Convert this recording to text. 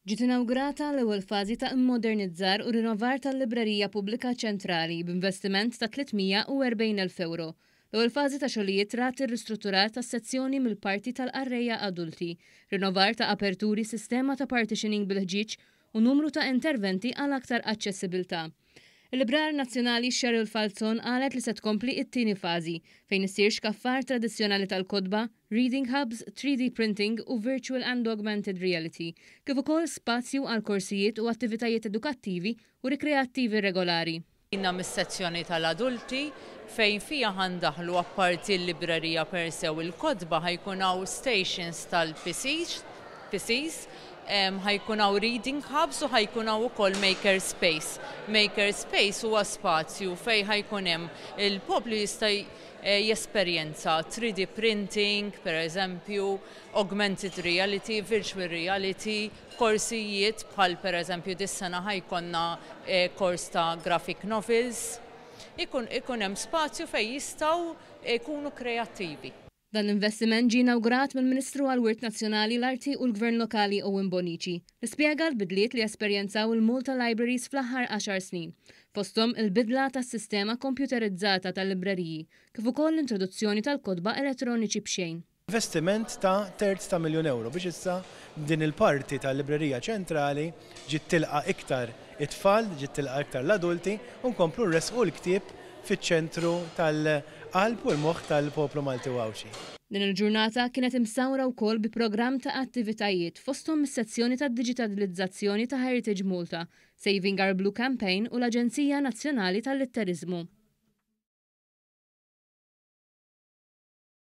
Ġiet inawgurata l-ewwel fażi ta' immodernizzar u rinnovar tal-Librerija Pubblika Ċentrali b'investiment ta' 340,000 ewro. L-ewwel fażi ta' xogħlijiet rat ir-ristrutturar tas-sezzjoni mill-parti tal-qarrejja adulti, rinnovar ta' aperturi, sistema ta' partitioning bil-ħġieġ u numru ta' interventi għal aktar aċċessibilità. Il-Librar Nazzjonali Cheryl Falzon qalet li se tkompli t-tieni fażi, fejn issir xkaffar tradizzjonali tal-kotba, reading hubs, 3D printing u virtual and augmented reality, kif ukoll spazju għal korsijiet u attivitajiet edukattivi u rikreattivi regolari. Bdejna mis-sezzjoni tal-adulti fejn fiha ħa ndaħħlu apparti l-librerija per se u l-kotba ħa jkun hawn stations tal-PCs, PCs, ħa jkun hawn reading hubs u ħa jkun hawn ukoll maker space. Maker space huwa spazju fejn ħa jkun hemm il-poplu jista' jesperjenza 3D printing, per eżempju, augmented reality, virtual reality, korsijiet bħal per eżempju dis-sena ħa jkollna kors ta' graphic novels. Ikun ikun hemm spazju fejn jistgħu jkunu kreattivi. Dan l-investiment ġie inawgurat mill-Ministru għall-Wirt Nazzjonali, l-Arti u l-Gvern Lokali Owen Bonnici, li spjega l-bidliet li esperjenzaw il-Malta Libraries fl-aħħar għaxar snin, fosthom il-bidla tas-sistema kompjuterizzata tal-libreriji, kif ukoll l-introduzzjoni tal-kotba elettroniċi b'xejn. Investiment ta' terz ta' miljun ewro biex issa din il-parti tal-librerija ċentrali ġiet tilqa' iktar it-tfal, ġiet tilqa' iktar l-adulti u nkomplu nressqu l-ktieb fiċ-ċentru tal-qalb u l-moħħ tal-poplu Malti u Għawdxi. Din il-ġurnata kienet imsawra wkoll bi programm ta' attivitajiet fosthom is-sezzjoni tad-diġitalizzazzjoni ta' Heritage Malta, Saving Our Blue Campaign u l-Aġenzija Nazzjonali tal-Litteriżmu.